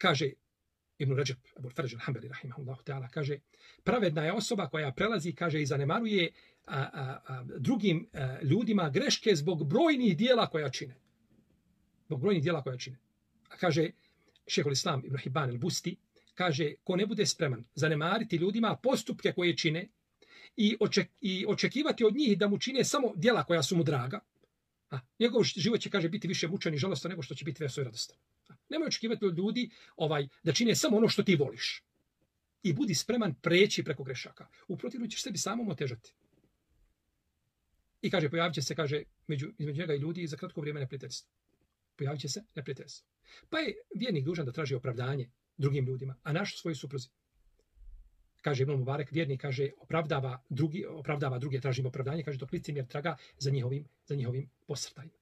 kaže Ibn Rajab, Abu Farđ al-Hambali, rahimahullahu ta'ala, kaže, pravedna je osoba koja prelazi, kaže, i zanemaruje drugim ljudima greške zbog brojnih dijela koja čine. Zbog brojnih dijela koja čine. A kaže, Šejhul Islam Ibn Hibban al-Busti, kaže, ko ne bude spreman zanemariti ljudima postupke koje čine i očekivati od njih da mu čine samo dijela koja su mu draga, njegov život će, kaže, biti više mučan i žalostan nego što će biti veseo i radostan. Nemoj očekivati od ljudi da čine samo ono što ti voliš. I budi spreman preći preko grešaka. U protivnom ćeš sebi samom otežati. I kaže, pojavit će se, kaže, između njega i ljudi za kratko vrijeme neprijateljstvo. Pojavit će se neprijateljstvo. Pa je vjernik dužan da traži opravdanje drugim ljudima, a naš svoj supruzi. Kaže Ibn Mubarek, vjernik, kaže, opravdava druge, tražimo opravdanje, kaže, dok licemjer traga za njihovim posrtajima.